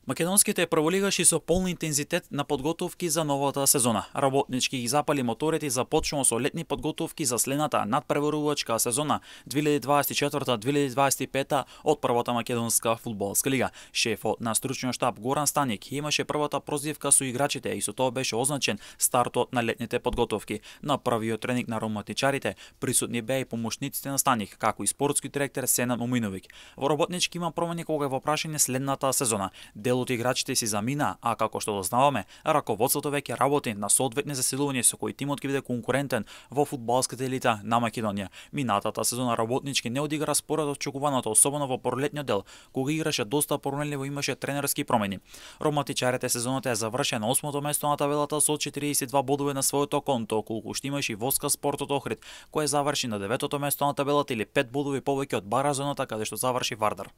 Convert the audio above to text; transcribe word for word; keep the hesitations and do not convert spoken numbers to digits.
Македонските прволигаши со полн интензитет на подготовки за новата сезона. Работнички ги запали моторите и започнува со летни подготовки за следната надпреварувачка сезона две илјади дваесет и четврта - две илјади дваесет и пета од првата македонска фудбалска лига. Шефот на стручниот штаб Горан Станик имаше првата прозивка со играчите и со тоа беше означен стартот на летните подготовки. На првиот тренинг на роматичарите присутни беа и помошниците на Станик, како и спортски директор Сенад Моминовиќ. Во работнички има промени кога е во прашање следната сезона. Дел од играчите си замина, а како што дознаваме, раководството веќе работи на соодветни засилувања со кои тимот ќе биде конкурентен во фудбалската елита на Македонија. Минатата сезона работнички не одигра според очекуваното, особено во пролетниот дел, кога играше доста променливо, имаше тренерски промени. Роматичарите сезоната е завршена на осмото место на табелата со четириесет и два бодови на своето конто, колку што имаше и Воска Спортот Охрид, кој заврши на деветото место на табелата или пет бодови повеќе од Баразоната каде што заврши Вардар.